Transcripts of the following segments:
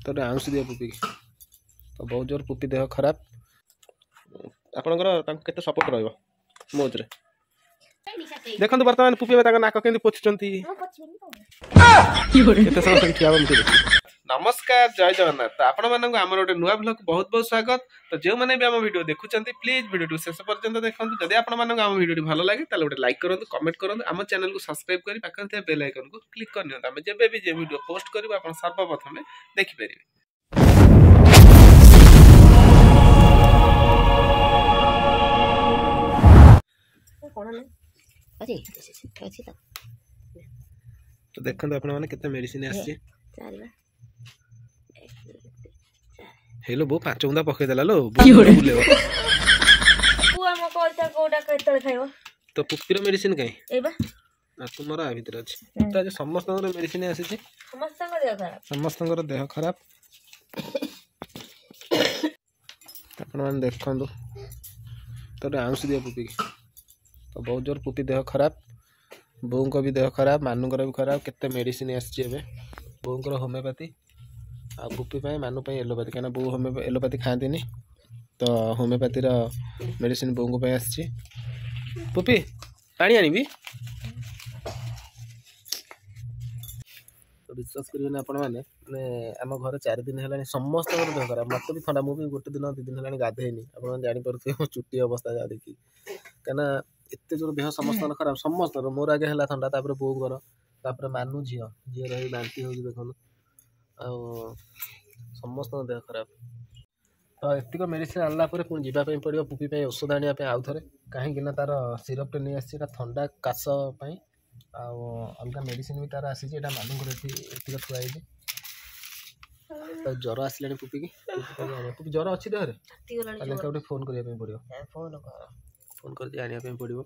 ତ ଆଉଁସି ଦିଅ ପୁପିକି। ତ ବହୁତ ଜୋର ପୁପି ଦେହ ଖରାପ। ଆପଣଙ୍କର ତାଙ୍କୁ କେତେ ସପୋର୍ଟ ରହିବ ମୋଜରେ ଦେଖନ୍ତୁ। ବର୍ତ୍ତମାନ ପୁପି ଏବେ ତାଙ୍କ ନାକ କେମିତି ପୋଛୁଛନ୍ତି, କେତେ ସମୟ ସେଠି ଠିଆ ହବ। ନମସ୍କାର, ଜୟ ଜଗନ୍ନାଥ। ତ ଆପଣମାନଙ୍କୁ ଆମର ଗୋଟେ ନୂଆ ବ୍ଲଗ ବହୁତ ବହୁତ ସ୍ୱାଗତ। ତ ଯେଉଁମାନେ ବି ଆମ ଭିଡ଼ିଓ ଦେଖୁଛନ୍ତି, ପ୍ଲିଜ୍ ଭିଡ଼ିଓଟି ଶେଷ ପର୍ଯ୍ୟନ୍ତ ଦେଖନ୍ତୁ। ଯଦି ଆପଣମାନଙ୍କୁ ଆମ ଭିଡ଼ିଓଟି ଭଲ ଲାଗେ, ତାହେଲେ ଗୋଟେ ଲାଇକ୍ କରନ୍ତୁ, କମେଣ୍ଟ କରନ୍ତୁ, ଆମ ଚ୍ୟାନେଲକୁ ସବସ୍କ୍ରାଇବ୍ କରି ପାଖରେ ଥିବା ବେଲ୍ ଆଇକନ୍କୁ କ୍ଲିକ୍ କରିନିଅନ୍ତୁ। ଆମେ ଯେବେ ବି ଯେ ଭିଡ଼ିଓ ପୋଷ୍ଟ କରିବୁ, ଆପଣ ସର୍ବପ୍ରଥମେ ଦେଖିପାରିବେ। ତ ଦେଖନ୍ତୁ ଆପଣମାନେ କେତେ ମେଡିସିନ ଆସିଛି। ହେଲୋ ବୋଉ, 5 ବୁନ୍ଦା ପକେଇଦେଲା ଲୋ, ବୁଲେଇବ। ତ ପୁପିର ମେଡିସିନ କାଇଁ ତୁମର ଆ ଭିତରେ ଅଛି? ତ ଆଜି ସମସ୍ତଙ୍କର ମେଡିସିନ ଆସିଛି, ସମସ୍ତଙ୍କର ଦେହ ଖରାପ। ଆପଣମାନେ ଦେଖନ୍ତୁ। ତ ଆଉଁସି ଦିଅ ପୁପିକି। ତ ବହୁତ ଜୋର ପୁପି ଦେହ ଖରାପ, ବୋଉଙ୍କ ବି ଦେହ ଖରାପ, ମାନୁଙ୍କର ବି ଖରାପ। କେତେ ମେଡ଼ିସିନ ଆସିଛି ଏବେ। ବୋଉଙ୍କର ହୋମିଓପାଥି ଆଉ ପୁପି ପାଇଁ, ମାନୁ ପାଇଁ ଏଲୋପାଥି, କାହିଁକିନା ବୋଉ ହୋମିଓ ଏଲୋପାଥି ଖାଆନ୍ତିନି। ତ ହୋମିଓପାଥିର ମେଡ଼ିସିନ ବୋଉଙ୍କ ପାଇଁ ଆସିଛି। ପୁପି, ପାଣି ଆଣିବି? ତ ବିଶ୍ୱାସ କରିବେନି ଆପଣମାନେ, ମାନେ ଆମ ଘରେ 4 ଦିନ ହେଲାଣି ସମସ୍ତଙ୍କର ଦେହ ଖରାପ। ମୋତେ ବି ଥଣ୍ଡା, ମୁଁ ବି ଗୋଟେ ଦିନ 2 ଦିନ ହେଲାଣି ଗାଧେଇନି। ଆପଣମାନେ ଜାଣିପାରୁଥିବେ ମୋ ଚୁଟି ଅବସ୍ଥା ଯାହା ଦେଖି, କାହିଁକିନା ଏତେ ଜୋର ଦେହ ସମସ୍ତଙ୍କର ଖରାପ, ସମସ୍ତଙ୍କର। ମୋର ଆଗେ ହେଲା ଥଣ୍ଡା, ତାପରେ ବୋଉଙ୍କର, ତାପରେ ମାନୁ ଝିଅ, ଝିଅର ହେଇ ବାନ୍ତି ହେଉଛି ଦେଖନ୍ତୁ। ଆଉ ସମସ୍ତଙ୍କ ଦେହ ଖରାପ। ତ ଏତିକ ମେଡ଼ିସିନ ଆଣିଲା ପରେ ପୁଣି ଯିବା ପାଇଁ ପଡ଼ିବ ପୁପି ପାଇଁ ଔଷଧ ଆଣିବା ପାଇଁ ଆଉ ଥରେ, କାହିଁକି ନା ତାର ସିରପ୍ଟେ ନେଇ ଆସିଛି, ଏଇଟା ଥଣ୍ଡା କାଶ ପାଇଁ। ଆଉ ଅଲଗା ମେଡ଼ିସିନ ବି ତାର ଆସିଛି। ଏଇଟା ମାନୁଙ୍କର ଏଠି ଏତିକ ଥୁଆ ହେଇଛି। ତ ଜ୍ୱର ଆସିଲାଣି ପୁପିକି। ପୁପି, ଜ୍ୱର ଅଛି ଦେହରେ? ତାହେଲେ ଗୋଟେ ଫୋନ୍ କରିବା ପାଇଁ ପଡ଼ିବ, ଫୋନ୍ କରିକି ଆଣିବା ପାଇଁ ପଡ଼ିବ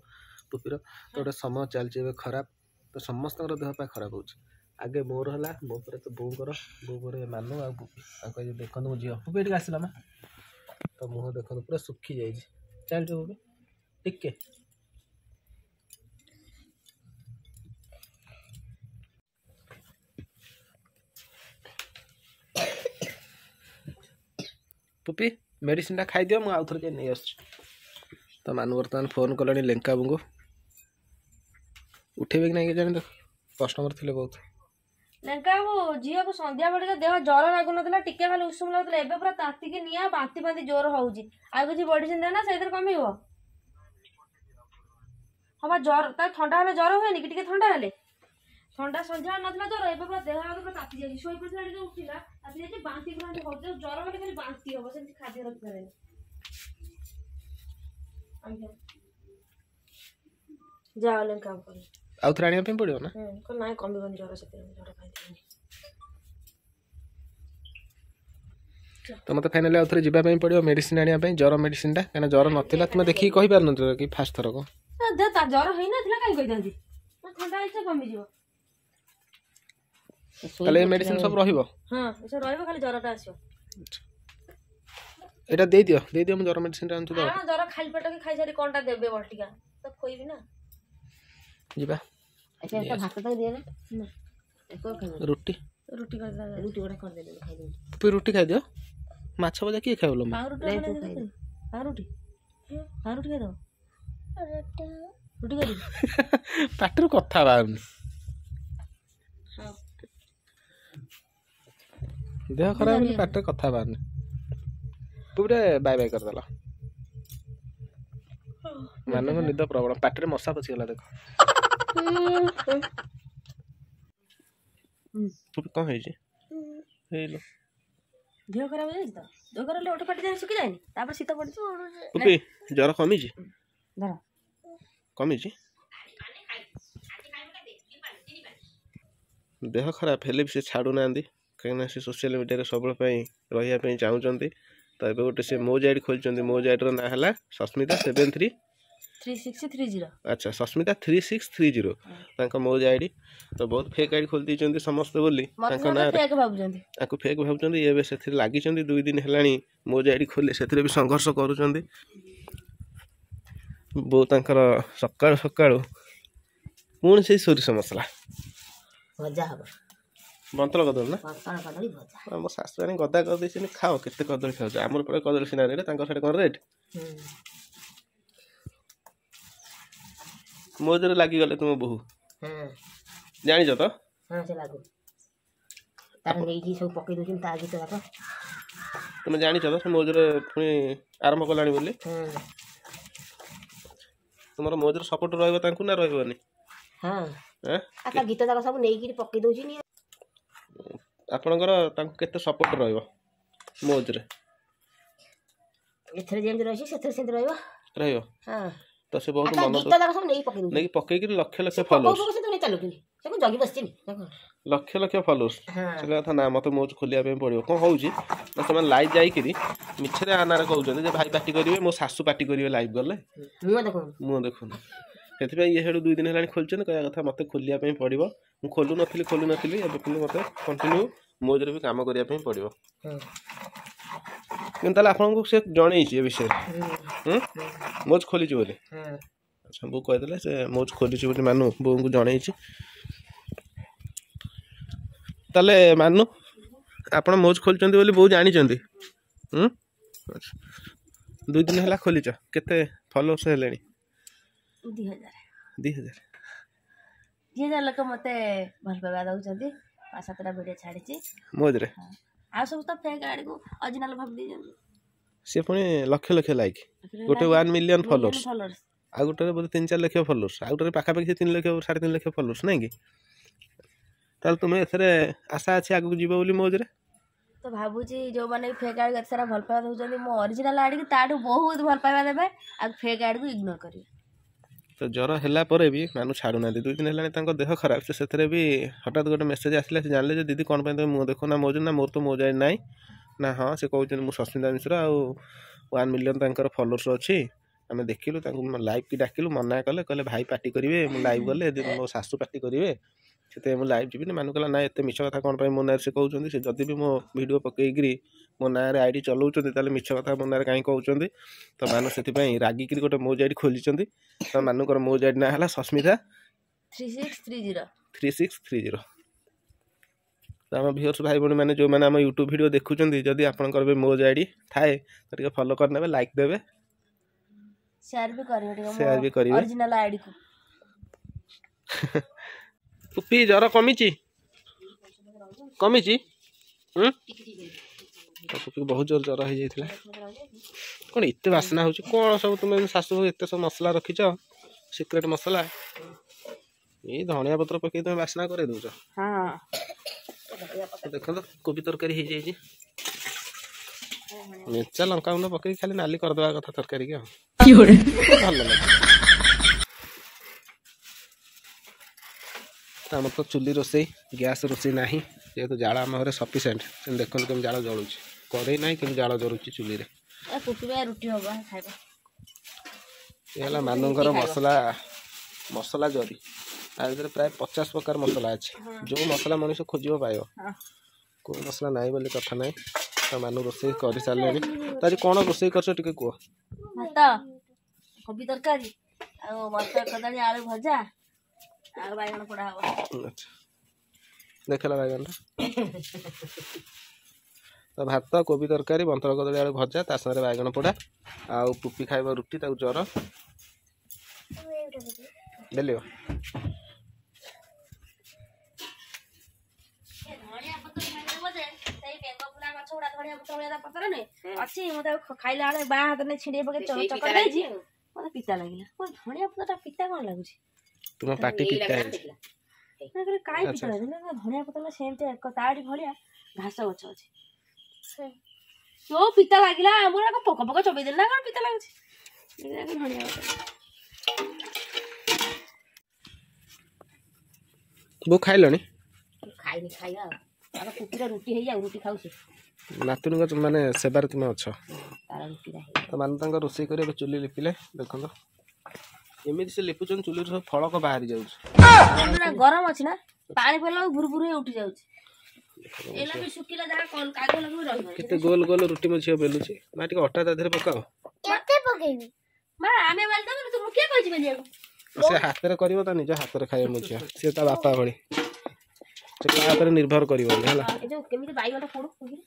ପୁପିର। ତ ଗୋଟେ ସମୟ ଚାଲିଛି ଏବେ ଖରାପ, ତ ସମସ୍ତଙ୍କର ଦେହ ପା ଖରାପ ହେଉଛି। ଆଗେ ମୋର ହେଲା, ମୋ ପରେ ତ ବୋଉଙ୍କର, ବୋଉ ପରେ ମାନୁ ଆଉ ପୁପି। ଆଉ ଦେଖନ୍ତୁ ମୋ ଝିଅ ପୁପି ଏଠିକି ଆସିଲା ମା। ତ ମୁହଁ ଦେଖନ୍ତୁ ପୁରା ଶୁଖି ଯାଇଛି। ଚାଲ ପୁପି ଟିକେ। ପୁପି, ମେଡ଼ିସିନଟା ଖାଇଦିଅ, ମୁଁ ଆଉ ଥରେ ଯାଇ ନେଇ ଆସୁଛି। ତ ମାନୁ ବର୍ତ୍ତମାନ ଫୋନ୍ କଲାଣି ଲେଙ୍କା ବାବୁଙ୍କୁ। ଉଠେଇବେ କି ନାଇଁ କେଜାଣି, ତ କଷ୍ଟମର ଥିଲେ ବହୁତ। ଲେଙ୍କା ବାବୁ, ଝିଅକୁ ସନ୍ଧ୍ୟା ବେଳେ ଦେହ ଜ୍ୱର ଲାଗୁନଥିଲା, ଟିକେ ଖାଲି ଉଷୁମ ଲାଗୁଥିଲା, ଏବେ ପୁରା ତାତିକି ନିଆଁ, ବାନ୍ତି ଫାନ୍ତି ଜୋର ହଉଛି। ଆଉ କିଛି ମେଡିସିନ ଦିଅ ନା, ସେଇଥିରେ କମିବ? ହଁ ବା, ଜ୍ୱର ତା ଥଣ୍ଡା ହେଲେ ଜ୍ୱର ହୁଏନି କି? ଟିକେ ଥଣ୍ଡା ହେଲେ ଥଣ୍ଡା ସନ୍ଧ୍ୟା ନଥିଲା ଜ୍ୱର, ଏବେ ପୁରା ଦେହ ହାତ ପୁରା ତାତି ଯାଇଛି। ଶୋଇ ପଡ଼ିଥିଲା ଟିକେ ଉଠିଲା, ତାତି ଯାଇଛି, ବାନ୍ତି ପୁରା ହଉଛି। ଜ୍ୱର ମାନେ ଖାଲି ବାନ୍ତି ହବ, ସେମିତି ଖାଦ୍ୟ ରଖିପାରେନି। ଯାଅ ଲେଙ୍କା ବାବୁ। ଆଉ ଥରେ ଆଣିବା ପାଇଁ ପଡ଼ିବ ନା? ନାଇଁ, କମିବନି ଜ୍ୱର, ସେଥିପାଇଁ ଜ୍ୱର ପାଇଁ। ତ ମୋତେ ଫାଇନାଲି ଆଉ ଥରେ ଯିବା ପାଇଁ ପଡ଼ିବ ମେଡ଼ିସିନ ଆଣିବା ପାଇଁ, ଜ୍ୱର ମେଡ଼ିସିନଟା, କାହିଁକିନା ଜ୍ୱର ନଥିଲା। ତୁମେ ଦେଖିକି କହିପାରୁନଥିଲ କି ଫାଷ୍ଟ ଥରକ? ଜ୍ୱର ହେଇନଥିଲା, କାହିଁ କହିଥାନ୍ତି? ଥଣ୍ଡା ହେଇଛି, କମିଯିବ। ତାହେଲେ ଏ ମେଡ଼ିସିନ ସବୁ ରହିବ? ହଁ, ଏସବୁ ରହିବ, ଖାଲି ଜ୍ୱରଟା ଆସିବ। ଏଇଟା ଦେଇଦିଅ, ଦେଇଦିଅ, ମୁଁ ଜ୍ୱର ମେଡ଼ିସିନଟା ଆଣୁଛି। ତ ଜ୍ୱର ଖାଲି ପେଟ କି ଖାଇସାରି କ'ଣଟା ଦେବେ ବଟିକା ତ ଖୋଇବି ନା। ଯିବା। ରୁଟି ରୁଟି ରୁଟି ଗୋଟେ କରିଦେଲେ ଖାଇଦେବି। ରୁଟି ଖାଇଦିଅ, ମାଛ ଭଜା କିଏ ଖାଇବ? ପାଉରୁଟି, ପାଉରୁଟି, ପାଉରୁଟି ଖାଇଦେବ। ରୁଟି କରିବି? ପାଟିରୁ କଥା ବାହାରୁନି, ଦେହ ଖରାପ ବୋଲି ପାଟିରେ କଥା ବାହାରୁନି। ପୁରା ବାଏ ବାଏ କରିଦେଲ। ମାନଙ୍କ ନିଦ ପ୍ରବଳ, ପାଟିରେ ମଶା ପଶିଗଲା ଦେଖ। କଣ ହେଇଛି ହେଇଲୋ? ଦେହ ଖରାପ ହେଇଯାଇଛି ତ ଦେହ ଖରାପ ହେଲେ ଓଠ ପାଟି ଯାଏ ଶୁଖିଯାଏନି, ତାପରେ ଶୀତ ପଡିଛି। ପୁପି, ଜ୍ୱର କମିଛି? ଧର, କମିଛି। ଦେହ ଖରାପ ହେଲେ ବି ସେ ଛାଡ଼ୁନାହାନ୍ତି, କାହିଁକିନା ସେ ସୋସିଆଲ ମିଡ଼ିଆରେ ସବୁବେଳେ ପାଇଁ ରହିବା ପାଇଁ ଚାହୁଁଛନ୍ତି। ତ ଏବେ ଗୋଟେ ସେ ମୋଜ ଆଇଡ଼ି ଖୋଲିଛନ୍ତି। ମୋଜ ଆଇଡ଼ିର ନାଁ ହେଲା ସସ୍ମିତା 73 3630। ଆଚ୍ଛା, ସସ୍ମିତା 3630 ତାଙ୍କ ମୋଜ ଆଇଡ଼ି। ତ ବହୁତ ଫେକ୍ ଆଇଡ଼ି ଖୋଲି ଦେଇଛନ୍ତି ସମସ୍ତେ ବୋଲି ତାଙ୍କ ନାଁରେ ତାଙ୍କୁ ଫେକ୍ ଭାବୁଛନ୍ତି। ଏବେ ସେଥିରେ ଲାଗିଛନ୍ତି, 2 ଦିନ ହେଲାଣି ମୋଜ ଆଇଡ଼ି ଖୋଲି ସେଥିରେ ବି ସଂଘର୍ଷ କରୁଛନ୍ତି। ବୋଉ ତାଙ୍କର ସକାଳୁ ସକାଳୁ ପୁଣି ସେଇ ସୋରିଷ ମସଲା ଭଜା ହବ। ବନ୍ତଳ କଦଳୀ ନା? ବନ୍ତଳ କଦଳୀ ଭଜା। ଆମ ଶାଶୁ ଆଣି ଗଦା କରିଦେଇଛନ୍ତି, ଖାଅ କେତେ କଦଳୀ ଖାଉଛ। ଆମର ପଟେ କଦଳୀ ସିନା ରେଟ୍, ତାଙ୍କ ସେଠି କ'ଣ ରେଟ୍? ମୋ ଦେହରେ ଲାଗିଗଲେ ତୁମ ବୋହୂ, ଜାଣିଛ ତ? ହଁ, ସେ ଲାଗୁ ତାର ନେଇକି ସବୁ ପକେଇ ଦଉଛନ୍ତି ତା ଗୀତ ଯାକ। ତୁମେ ଜାଣିଛ ତ ସେ ମୌଜରେ ପୁଣି ଆରମ୍ଭ କଲାଣି ବୋଲି? ତୁମର ମୌଜରେ ସପୋର୍ଟ ରହିବ ତାଙ୍କୁ ନା ରହିବନି? ହଁ, ତା ଗୀତ ଯାକ ସବୁ ନେଇକିରି ପକେଇ ଦଉଛି। ଆପଣଙ୍କର ତାଙ୍କୁ କେତେ ସପୋର୍ଟ ରହିବ ମୌଜରେ? ଏଥିରେ ଯେମିତି ରହିଛି ସେଥିରେ ସେମିତି ରହିବ। ରହିବ। ହଁ, ତ ସେ ବହୁତ ମନ ଗୀତ ଯାକ ସବୁ ନେଇକି ପକେଇ ଦଉଛି, ନେଇକି ପକେଇକିରି ଲକ୍ଷ ଲକ୍ଷ ଫଲୋଅର୍ସ। ଚାଲୁଛନ୍ତି, ସେ ଜଗି ବସିଛି, ଲକ୍ଷ ଲକ୍ଷ ଫଲୋଅର୍ସ। ସେ କଥା ନା ମୋତେ ମୌଜ ଖୋଲିବା ପାଇଁ ପଡ଼ିବ। କ'ଣ ହେଉଛି ନା, ସେମାନେ ଲାଇଭ୍ ଯାଇକିରି ମିଛରେ ଆନାରେ କହୁଛନ୍ତି ଯେ ଭାଇ ପାଟି କରିବେ, ମୋ ଶାଶୁ ପାଟି କରିବେ ଲାଇଭ୍ ଗଲେ, ମୁଁ ଦେଖୁନି। ସେଥିପାଇଁ ଇଏ ସେଠୁ 2 ଦିନ ହେଲାଣି ଖୋଲିଛନ୍ତି। କହିବା କଥା ମୋତେ ଖୋଲିବା ପାଇଁ ପଡ଼ିବ, ମୁଁ ଖୋଲୁ ନଥିଲି, ଏବେ କିନ୍ତୁ ମୋତେ କଣ୍ଟିନ୍ୟୁ ମୌଜରେ ବି କାମ କରିବା ପାଇଁ ପଡ଼ିବ। କିନ୍ତୁ ତାହେଲେ ଆପଣଙ୍କୁ ସେ ଜଣେଇଛି ଏ ବିଷୟରେ, ମୌଜ ଖୋଲିଛି ବୋଲି? ଆଚ୍ଛା, ବୋଉ କହିଦେଲେ ସେ ମୌଜ ଖୋଲିଛି ବୋଲି ମାନୁ ବୋଉଙ୍କୁ ଜଣେଇଛି। ତାହେଲେ ମାନୁ ଆପଣ ମୌଜ ଖୋଲିଛନ୍ତି ବୋଲି ବୋଉ ଜାଣିଛନ୍ତି? ଆଚ୍ଛା, 2 ଦିନ ହେଲା ଖୋଲିଛ, କେତେ ଫଲୋଅର୍ସ ହେଲେଣି? 2000। 2000? 2000 ଲୋକ ମୋତେ ଭଲ ପାଇବା ଦେଉଛନ୍ତି। 5-7ଟା ଭିଡ଼ିଓ ଛାଡ଼ିଛି ମୌଜରେ। ଆଉ ସବୁ ତ ଫେକ୍ ଆଡ଼ିକୁ ଅରିଜିନାଲ ଭାବି ଦେଇଛନ୍ତି। ସେ ପୁଣି ଲକ୍ଷ ଲକ୍ଷ ଲାଇକ୍, ଗୋଟେ 1 ମିଲିୟନ ଫଲୋଅର୍ସ, ଆଉ ଗୋଟେରେ ବୋଧେ 3-4 ଲକ୍ଷ ଫଲୋଅର୍ସ, ଆଉ ଗୋଟେରେ ପାଖାପାଖି 3 ଲକ୍ଷ 3.5 ଲକ୍ଷ ଫଲୋଅର୍ସ, ନାଇଁ କି? ତାହେଲେ ତୁମେ ଏଥିରେ ଆଶା ଅଛି ଆଗକୁ ଯିବ ବୋଲି ମୌଜରେ? ତ ଭାବୁଛି ଯେଉଁମାନେ ଫେକ୍ ଆଡ଼ିକୁ ଏତେ ସାରା ଭଲ ପାଇବା ଦେଉଛନ୍ତି, ମୋ ଅରିଜିନାଲ ଆଡ଼ିକୁ ତାଠୁ ବହୁତ ଭଲ ପାଇବା ଦେବେ, ଆଉ ଫେକ୍ ଆଡ଼ିକୁ ଇଗ୍ନୋର କରିବେ। ତ ଜ୍ୱର ହେଲା ପରେ ବି ମାନୁ ଛାଡ଼ୁନାହାନ୍ତି। 2 ଦିନ ହେଲାଣି ତାଙ୍କ ଦେହ ଖରାପ, ସେ ସେଥିରେ ବି ହଠାତ୍ ଗୋଟେ ମେସେଜ୍ ଆସିଲା, ସେ ଜାଣିଲେ ଯେ ଦିଦି କ'ଣ ପାଇଁ ତୁମେ ମୁଁ ଦେଖୁ ନା ମୌଜ ନା, ମୋର ତ ମୌଜ ନାହିଁ ନା। ହଁ, ସେ କହୁଛନ୍ତି ମୁଁ ସସ୍ମିତା ମିଶ୍ର, ଆଉ 1 ମିଲିୟନ୍ ତାଙ୍କର ଫଲୋଅର୍ସ ଅଛି। ଆମେ ଦେଖିଲୁ ତାଙ୍କୁ ଲାଇଭ୍ କି ଡାକିଲୁ, ମନା କଲେ, କହିଲେ ଭାଇ ପାଟି କରିବେ ମୁଁ ଲାଇଭ୍ ଗଲେ, ମୋ ଶାଶୁ ପାଟି କରିବେ, ସେଥିପାଇଁ ମୁଁ ଲାଇଭ୍ ଯିବିନି। ମାନୁ କହିଲା ନା ଏତେ ମିଛ କଥା କ'ଣ ପାଇଁ ମୋ ନାଁରେ ସେ କହୁଛନ୍ତି? ସେ ଯଦି ବି ମୋ ଭିଡ଼ିଓ ପକେଇକିରି ମୋ ନାଁରେ ଆଇଡ଼ି ଚଲାଉଛନ୍ତି, ତାହେଲେ ମିଛ କଥା ମୋ ନାଁରେ କାହିଁ କହୁଛନ୍ତି? ତ ମାନୁ ସେଥିପାଇଁ ରାଗିକିରି ଗୋଟେ ମୌଜ ଆଇଡ଼ି ଖୋଲିଛନ୍ତି। ତ ମାନୁଙ୍କର ମୌଜ ଆଇଡ଼ି ନାଁ ହେଲା ସସ୍ମିତା 3630। 3630। ତ ଆମ ଭିଉଅର୍ସ ଭାଇ ଭଉଣୀମାନେ ଯେଉଁମାନେ ଆମ ୟୁଟ୍ୟୁବ୍ ଭିଡ଼ିଓ ଦେଖୁଛନ୍ତି, ଯଦି ଆପଣଙ୍କର ବି ମୌଜ ଆଇଡ଼ି ଥାଏ ତ ଟିକେ ଫଲୋ କରିନେବେ, ଲାଇକ୍ ଦେବେ, ସେୟାର ବି କରିବେ, ଟିକେ ସେୟାର ବି କରିବେ ଅରିଜିନାଲ ଆଇଡ଼ିକୁ। ପୁପି ଜ୍ୱର କମିଛି? କମିଛି? ପୁପିକୁ ବହୁତ ଜୋର ଜ୍ୱର ହେଇଯାଇଥିଲା। କ'ଣ ଏତେ ବାସ୍ନା ହେଉଛି? କ'ଣ ସବୁ ତୁମେ ଶାଶୁ ଏତେ ସବୁ ମସଲା ରଖିଛ, ସିକ୍ରେଟ୍ ମସଲା? ଏଇ ଧଣିଆ ପତ୍ର ପକେଇ ତୁମେ ବାସ୍ନା କରେଇ ଦେଉଛ। ଦେଖନ୍ତୁ କୋବି ତରକାରୀ ହେଇଯାଇଛି, ମେଞ୍ଚା ଲଙ୍କା ଗୁଣ୍ଡ ପକେଇକି ଖାଲି ନାଲି କରିଦେବା କଥା ତରକାରୀ କି, ଆଉ ଭଲ ଲାଗେ। ଆମର ତ ଚୁଲି ରୋଷେଇ, ଗ୍ୟାସ୍ ରୋଷେଇ ନାହିଁ, ଯେହେତୁ ଜାଳ ଆମ ଘରେ ସଫିସିଏଣ୍ଟ। ଦେଖନ୍ତୁ କେମିତି ଜାଳ ଜଳୁଛି, କରେଇ ନାହିଁ କିନ୍ତୁ ଜାଳ ଜଳୁଛି ଚୁଲିରେ। ରୁଟି ହବ ଖାଇବା। ଏ ହେଲା ମାନୁଙ୍କର ମସଲା, ମସଲା ଜରି। ତା ଭିତରେ ପ୍ରାୟ 50 ପ୍ରକାର ମସଲା ଅଛି, ଯେଉଁ ମସଲା ମଣିଷ ଖୋଜିବ ପାଇବ, କେଉଁ ମସଲା ନାହିଁ ବୋଲି କଥା ନାହିଁ। ତ ମାନୁ ରୋଷେଇ କରିସାରିଲେଣି। ତ ଆଜି କ'ଣ ରୋଷେଇ କରିଛ ଟିକେ କୁହ? ଭାତ, କୋବି ତରକାରୀ, ଆଉ ମଟର କଦଳୀ ଆଳୁ ଭଜା, ଆଉ ବାଇଗଣ ପୋଡ଼ା ହବ। ଆଚ୍ଛା, ଦେଖିଲା ବାଇଗଣଟା। ତ ଭାତ, କୋବି ତରକାରୀ, ବନ୍ତଳ କଦଳୀ ଆଳୁ ଭଜା, ତା ସାଙ୍ଗରେ ବାଇଗଣ ପୋଡ଼ା, ଆଉ ପୁପି ଖାଇବ ରୁଟି, ତାକୁ ଜ୍ୱର। ବେଲିବ ଅଛି, ମୁଁ ତାକୁ ଖାଇଲା ବେଳେ ବାଁ ହାତ ନେଇ ଛିଣ୍ଡେଇ ପକେଇ ଚକଟି ଦେଇଛି, ମତେ ପିତା ଲାଗିଲା। ଧଣିଆ ପତ୍ରଟା ପିତା କ'ଣ ଲାଗୁଛି? ତୁମ ପାଟି ପିତା ହେଇଛି। କାଇଁ ପିତା ଲାଗୁଛି? ଧଣିଆ ପତ୍ର ସେମିତି ଏକ ତାରି ଭଳିଆ ଘାସ ଗଛ ଅଛି, ଯୋଉ ପିତା ଲାଗିଲା। ଆମର ପୋକ ପୋକ ଚୋବେଇ ଦେଲେ ନା କ'ଣ ପିତା ଲାଗୁଛି ଧଣିଆ ପତ୍ର? ବୋଉ ଖାଇଲଣି? ଖାଇନି, ଖାଇବା ଆଉ। ଆଗ କୁକୁର ରୁଟି ହେଇଯାଉ, ରୁଟି ଖାଉଛି। ନାତୁଣୀଙ୍କ ମାନେ ସେବାରେ ତୁମେ ଅଛ। ତ ମାନେ ତାଙ୍କ ରୋଷେଇ କରି ଏବେ ଚୁଲି ଲିପିଲେ, ଦେଖନ୍ତୁ ଏମିତି ସେ ଲିପୁଛନ୍ତି, ଚୁଲିରୁ ସବୁ ଫଳକ ବାହାରି ଯାଉଛି। ଗରମ ଅଛି ନା, ପାଣି ପଡ଼ିଲା ଭୁରୁ ଭୁରୁ ହେଇ ଉଠି ଯାଉଛି। କେତେ ଗୋଲ ଗୋଲ ରୁଟି ମୋ ଝିଅ ବେଲୁଛି। ମା ଟିକେ ଅଟା ତା ଦେହରେ ପକାଅ। ମା ଆମେ ବେଲି ତୁମକୁ କିଏ କହିଛି ବେଲିବାକୁ? ସେ ହାତରେ କରିବ, ତା ନିଜ ହାତରେ ଖାଇବ ମୋ ଝିଅ, ସିଏ ତା ବାପା ଭଳି। ସେ କାହା ଉପରେ ନିର୍ଭର କରିବନି ହେଲା। ଏ ଯୋଉ କେମିତି ବାଇଗଣଟା ପୋଡୁ, କେମିତି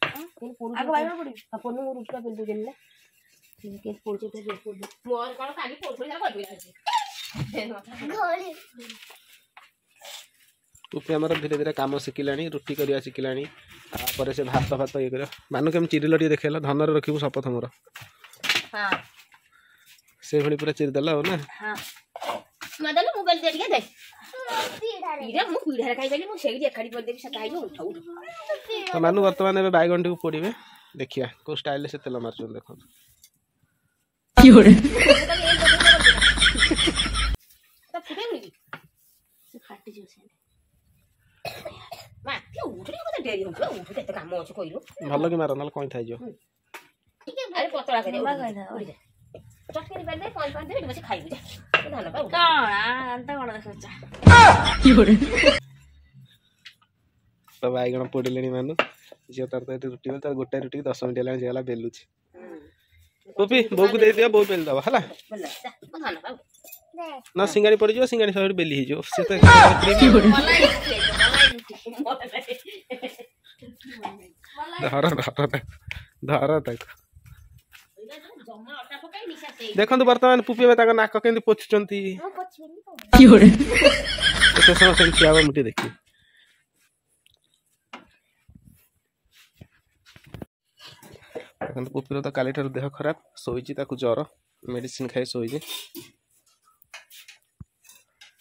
ପୋଡୁ? ଆଗ ବାଇଗଣ ପୋଡ଼ିବି। ପୋଡୁ, ମୁଁ ରୁଟିଟା ବେଲି ଦଉଛନ୍ତି ନା, କେମିତି ପୋଡୁଛି? ମୋର କଣ କାଲି ପୋଡୁଥିଲି। ପୁପି ଆମର ଧୀରେ ଧୀରେ କାମ ଶିଖିଲାଣି, ରୁଟି କରିବା ଶିଖିଲାଣି, ତାପରେ ସେ ଭାତ ଫାତ ଇଏ କରିବ। ମାନୁ, କେମିତି ଚିରିଲ ଟିକେ ଦେଖେଇଲ। ଧନରେ ରଖିବୁ ଶପଥ ମୋର। ସେଇଭଳି ପୁରା ଚିରିଦେଲ ଆଉ ନା? ମୁଁ ବେଲି ଟିକେ ଦେ। ମୁଁ ପିଢ଼ାରେ ଖାଇପାରିଲି, ମୁଁ ସେଇଠି ଏକାଠି କରିଦେବି, ସେ ଖାଇବ। ଉଠ ଉଠ। ତ ମାନୁ ବର୍ତ୍ତମାନ ଏବେ ବାଇଗଣଟିକୁ ପୋଡ଼ିବେ, ଦେଖିବା କୋଉ ଷ୍ଟାଇଲରେ ସେ ତେଲ ମାରୁଛନ୍ତି, ଦେଖନ୍ତୁ। ଫାଟିଯିବ। ମା, ଉଠୁ, କେତେ ଡେରି ହଉଛି, ଉଠୁ, କେତେ କାମ ଅଛି କହିଲୁ। ଭଲ କି ମାର, ନହେଲେ କଇଁ ଥାଇଯିବ। ଆରେ ପତଳା କରି ଚଟଣି ପାରିଦେ, ପାଣି ପାଣି ଦେବେ, ବସି ଖାଇବୁ। ଯା ଧାନ ପା। କଣ ଆନ୍ତା କଣ ଦେଖୁଛ? ତ ବାଇଗଣ ପୋଡ଼ିଲେଣି ମାନୁ। ଝିଅ ତାର ତ ଏଠି ରୁଟି, ତାର ଗୋଟେ ରୁଟିକି 10 ମିନିଟ୍ ହେଲାଣି ଝିଅ ହେଲା ବେଲୁଛି। ପୁପି, ବୋଉକୁ ଦେଇଦିଅ, ବୋଉ ବେଲି ଦବ ହେଲା ନା? ସିଙ୍ଗାଣି ପଡ଼ିଯିବ, ସିଙ୍ଗାଣି ସବୁ ବେଲି ହେଇଯିବ। ସେ ତ ଧର ଧର ଧର ତାକୁ। ଦେଖନ୍ତୁ, ବର୍ତ୍ତମାନ ପୁପି ଏବେ ତାଙ୍କ ନାକ କେମିତି ପୋଛୁଛନ୍ତି। କେତେ ସମୟ ସେମିତି ଠିଆ ହବ ମୁଁ ଟିକେ ଦେଖିବି। ଦେଖନ୍ତୁ, ପୁପିର ତ କାଲିଠାରୁ ଦେହ ଖରାପ, ଶୋଇଛି, ତାକୁ ଜ୍ୱର, ମେଡ଼ିସିନ ଖାଇ ଶୋଇଛି।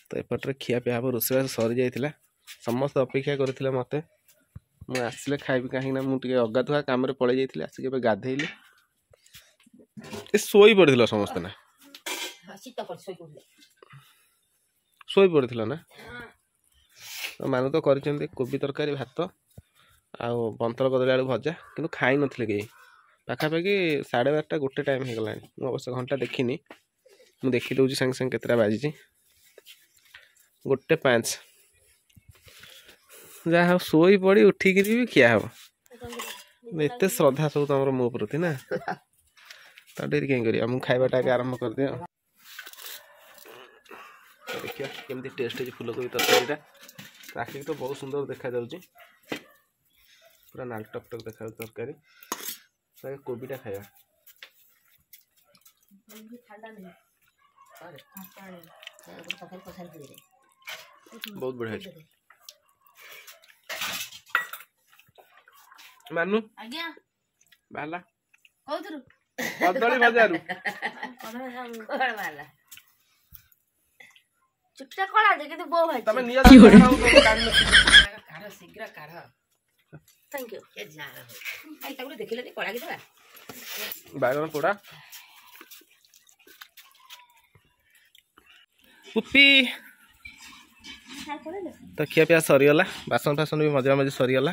ତ ଏପଟରେ ଖିଆପିଆ ହେବ, ରୋଷେଇବାସ ସରିଯାଇଥିଲା। ସମସ୍ତେ ଅପେକ୍ଷା କରିଥିଲେ ମୋତେ, ମୁଁ ଆସିଲେ ଖାଇବି, କାହିଁକିନା ମୁଁ ଟିକେ ଅଗାଧୁଆ କାମରେ ପଳେଇ ଯାଇଥିଲି, ଆସିକି ଏବେ ଗାଧେଇଲି। ଏ ଶୋଇ ପଡ଼ିଥିଲ ସମସ୍ତେ ନା? ଶୋଇ ପଡ଼ିଥିଲ ନା? ମାନୁ ତ କରିଛନ୍ତି କୋବି ତରକାରୀ, ଭାତ ଆଉ ବନ୍ତର କଦଳୀ ଆଳୁ ଭଜା, କିନ୍ତୁ ଖାଇନଥିଲେ କେହି। ପାଖାପାଖି 12:30 1 ଟାଇମ୍ ହେଇଗଲାଣି। ମୁଁ ଅବଶ୍ୟ ଘଣ୍ଟା ଦେଖିନି, ମୁଁ ଦେଖିଦେଉଛି ସାଙ୍ଗେ ସାଙ୍ଗେ କେତେଟା ବାଜିଛି। 1:05। ଯାହା ହଉ, ଶୋଇ ପଡ଼ି ଉଠିକିରି ବି ଖିଆ ହବ। ଏତେ ଶ୍ରଦ୍ଧା ସବୁ ତମର ମୋ ପ୍ରତି ନା? ତ ଡେରି କାହିଁ କରିବା, ମୁଁ ଖାଇବାଟା ଆଗେ ଆରମ୍ଭ କରିଦିଏ। ଦେଖିବା କେମିତି ଟେଷ୍ଟ ହେଇଛି ଫୁଲକୋବି ତରକାରୀଟା। ଆଖିକି ତ ବହୁତ ସୁନ୍ଦର ଦେଖାଯାଉଛି, ପୁରା ନାଲ ଟକ୍ ଟକ୍ ଦେଖାଯାଉଛି ତରକାରୀ। କୋବିଟା ଖାଇବା। ବହୁତ ବଢ଼ିଆ ହେଇଛି ମାନୁ। ଆଜ୍ଞା। ବାହାରିଲା କୋଉଥିରୁ? କଦଳୀ ଭଜାରୁ ଚୁଟିଟା କଳା ଯେ, କିନ୍ତୁ ବୋଉ ଭାଇ ତମେ ନିଅ। କାଢ, ଶୀଘ୍ର କାଢ। Thank you. ତାକୁ ଦେଖିଲେ କଳା କି ଦେବା। ବାଇଗଣ ପୋଡ଼ା। ପୁପି ତ ଖିଆପିଆ ସରିଗଲା, ବାସନ ଫାସନ ବି ମଜା ମଜି ସରିଗଲା।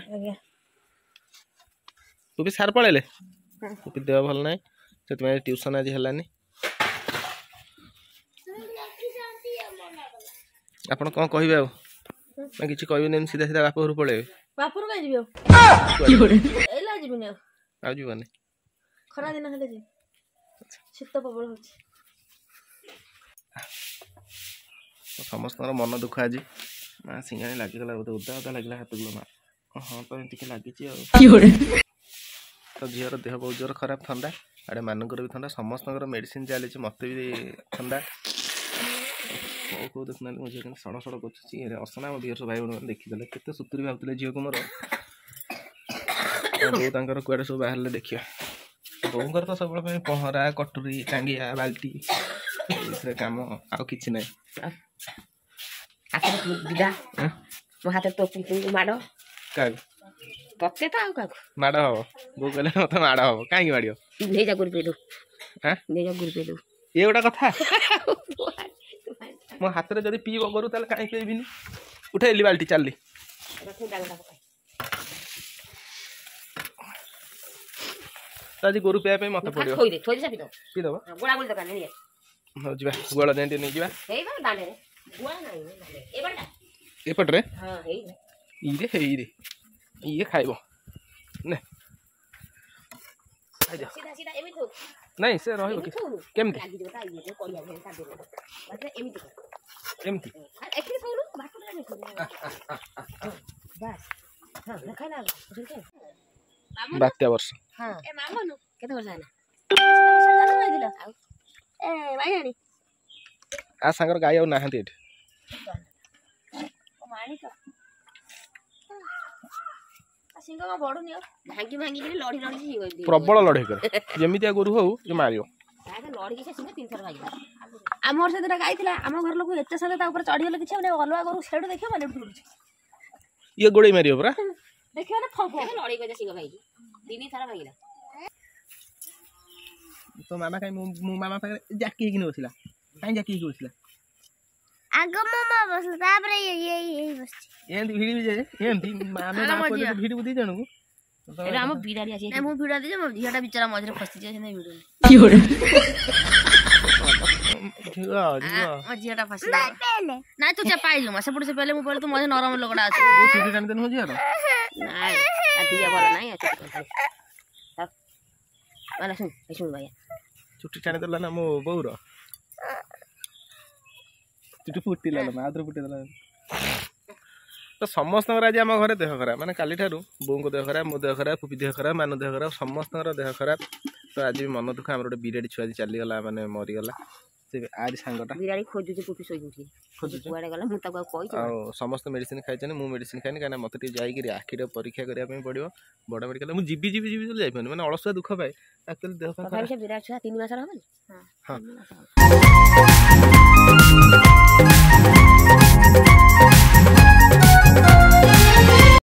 ପୁପି ସାର୍ ପଳେଇଲେ। ପୁପି ଦେହ ଭଲ ନାହିଁ, ସେଥିପାଇଁ ଟ୍ୟୁସନ୍ ଆଜି ହେଲାନି। ଆପଣ କ'ଣ କହିବେ ଆଉ ନା କିଛି କହିବେନି? ଏମିତି ସିଧା ସିଧା ବାପ ଘରୁ ପଳେଇବେ? ବାପରୁ କାଇଁ ଯିବି ଆଉ, ଏଇଲା ଯିବିନି ଆଉ। ଆଉ ଯିବନି? ଖରା ଦିନ ହେଲେ ଯିବି, ଶୀତ ପ୍ରବଳ ହଉଛି। ସମସ୍ତଙ୍କର ମନ ଦୁଃଖ ଆଜି। ମା, ସିଙ୍ଗାଣି ଲାଗିଗଲା ବୋଧେ, ଓଦା ଓଦା ଲାଗିଲା ହାତକୁ। ମା, ହଁ ତ ଟିକେ ଲାଗିଛି ଆଉ। ତ ଝିଅର ଦେହ ବହୁତ ଜୋର ଖରାପ, ଥଣ୍ଡା, ଆଡ଼େ ମାନଙ୍କର ବି ଥଣ୍ଡା, ସମସ୍ତଙ୍କର ମେଡ଼ିସିନ ଚାଲିଛି, ମୋତେ ବି ଥଣ୍ଡା। କେଉଁ କେଉଁ ଦେଖୁନାହାନ୍ତି ମୋ ଝିଅ କେମିତି ସଡ଼ ସଡ଼ କରୁଛି। ଅସନା ଆମ ଭିଅର୍ସ ଭାଇ ଭଉଣୀମାନେ ଦେଖିଦେଲେ କେତେ ସୁତୁରି ଭାବୁଥିଲେ ଝିଅକୁ ମୋର। ବୋଉ ତାଙ୍କର କୁଆଡ଼େ ସବୁ ବାହାରିଲେ ଦେଖିବା। ବୋଉଙ୍କର ତ ସବୁବେଳେ ପାଇଁ ପହଁରା, କଟୁରୀ, ଟାଙ୍ଗିଆ, ବାଲ୍ଟି, ଏଇଥିରେ କାମ, ଆଉ କିଛି ନାହିଁ। ବିଦା ମୋ ହାତରେ ତୋ ମାଡ଼। କାହାକୁ? ତତେ ତ ଆଉ କାହାକୁ ମାଡ଼ ହବ? ବୋଉ କହିଲେ ମତେ ମାଡ଼ ହବ। କାହିଁକି ମାଡ଼ିବ? ନେଇଯା ଗୁରୁ ପେଇଦବୁ, ନେଇଯା ଗୁରୁ ପେଇଦବୁ। ଇଏ ଗୋଟେ କଥା, ମୋ ହାତରେ ଯଦି ପିଇବ ଗୋରୁ ତାହେଲେ କାହିଁ ପିଇବିନି? ଉଠେଇଲି ବାଲ୍ଟି, ଚାଲିଲି। ତ ଆଜି ଗୋରୁ ପିଇବା ପାଇଁ ମତେ ପଡିବ। ପିଇଦବ। ହଉ ଯିବା, ଗୁଆଳ ଯାଏଁ ଟିକେ ନେଇଯିବା। ଏପଟରେ ଇରେ ହେଇରେ ଇଏ ଖାଇବ ନେ, ଖାଇଦିଅ। ନାଇଁ, ସେ ରହିବ କେମିତି? ଏମିତି ଏଠି ଖାଉନୁ ଭାତ ବାସ୍। ହଁ, ଖାଇଲା। ବାତ୍ୟା ବର୍ଷ। ହଁ, କେତେ ବର୍ଷ ହେଲା? ଏ ବାଇଆଣୀ ଆ ସାଙ୍ଗର ଗାଈ ଆଉ ନାହାନ୍ତି ଏଠି। ମାଣିକ ସିଂହ କଣ ବଢୁନି ଆଉ? ଭାଙ୍ଗି ଭାଙ୍ଗିକିରି ଲଢି ଲଢି ସିଂହ ପ୍ରବଳ ଲଢେଇ କରେ। ଯେମିତିଆ ଗୋରୁ ହଉ ଯେ ମାରିବ। ଲଢିକି ସେ ସିଂହ ତିନିଥର ଭାଙ୍ଗିଲା। ଆମର ସେଦିନ ଗାଈ ଥିଲା, ଆମ ଘର ଲୋକ ଏତେ ସାଥେ ତା ଉପରେ ଚଢିଗଲେ କିଛି ହବନି। ଅଲଗା ଗୋରୁ ସେଠୁ ଦେଖିବ ମାନେ ଉଠି ଉଠୁଛି। ଇଏ ଗୋଡେଇ ମାରିବ ପୁରା। ଦେଖିବ ମାନେ ଫଁ ଫଁ ଲଢେଇ କରିছে। ସିଂହ ଭାଙ୍ଗି ତିନି ଥର ଭାଙ୍ଗିଲା। ତୋ ମାମା କାଇଁ ମୋ ମାମା ପାଖରେ ଜାକି ହେଇକିନି ବସିଲା? କାଇଁ ଜାକି ହେଇକି ବସିଲା? ଆଗ ମୋ ମା ବସିଲା, ତାପରେ ଇଏ ଇଏ ବସିଛି। ଏମିତି ଭିଡ଼ିବି ଯେ ଏମିତି ଆମେ ମା ପୁଅ ଯଦି ଭିଡ଼ିବୁ ଦି ଜଣଙ୍କୁ। ଏବେ ଆମ ବିରାଡ଼ି ଆସି। ମୁଁ ଭିଡ଼ ଦେଇଛି, ମୋ ଝିଅଟା ବିଚରା ମଝିରେ ଫସିଯିବ। ସେମିତି ଭିଡ଼ୁନି। ଝିଅ, ଝିଅ, ମୋ ଝିଅଟା ଫସିଯିବ। ନାଇଁ, ତୁ ଚେପା ହେଇଯିବୁ ମା ସେପଟୁ। ସେ ପେଲେ ମୁଁ ପେଲେ, ତୁ ମଝିରେ ନରମ ଲୋକଟା ଅଛି। ଚୁଟି ଟାଣିଦେଲୁ ମୋ ଝିଅର। ନାଇଁ, ଦିଅ ଭଲ ନାଇଁ। ମାନେ ଶୁଣ, ଶୁଣ ଭାଇଆ। ଚୁଟି ଟାଣିଦେଲା ନା ମୋ ବୋଉର ଚୁଟି ଫୁଟିଲା ମା, ଆଉଥରେ ଫୁଟିଦେଲା। ତ ସମସ୍ତଙ୍କର ଆଜି ଆମ ଘରେ ଦେହ ଖରାପ। ମାନେ କାଲିଠାରୁ ବୋଉଙ୍କ ଦେହ ଖରାପ, ମୋ ଦେହ ଖରାପ, ଫୁପି ଦେହ ଖରାପ, ମାନ ଦେହ ଖରାପ, ସମସ୍ତଙ୍କର ଦେହ ଖରାପ। ତ ଆଜି ବି ମନ ଦୁଃଖ। ଆମର ଗୋଟେ ବିରାଡ଼ି ଛୁଆ ଆଜି ଚାଲିଗଲା, ମାନେ ମରିଗଲା। ସେ ଆରି ସାଙ୍ଗଟା ବିରାଡ଼ି ଖୋଜୁଛି। ପୁପି ଶୋଇକି ଉଠି ଖୋଜୁଛି କୁଆଡ଼େ ଗଲା। ମୁଁ ତାକୁ ଆଉ କହିଛି। ଆଉ ସମସ୍ତେ ମେଡ଼ିସିନ ଖାଇଛନ୍ତି, ମୁଁ ମେଡ଼ିସିନ ଖାଇନି। କାହିଁକିନା ମୋତେ ଟିକେ ଯାଇକିରି ଆଖିର ପରୀକ୍ଷା କରିବା ପାଇଁ ପଡ଼ିବ ବଡ଼ ମେଡ଼ିକାଲ। ମୁଁ ଯିବି ଯିବି ଯିବି ବୋଲି ଯାଇପାରୁନି, ମାନେ ଅଳସୁଆ ଦୁଃଖ ପାଏ। ଆକ୍ଚୁଆଲି ଦେହ ତଥାପି ସେ ବିରାଟ ଛୁଆ 3 ମାସର ହବନି? ହଁ। ହଁ।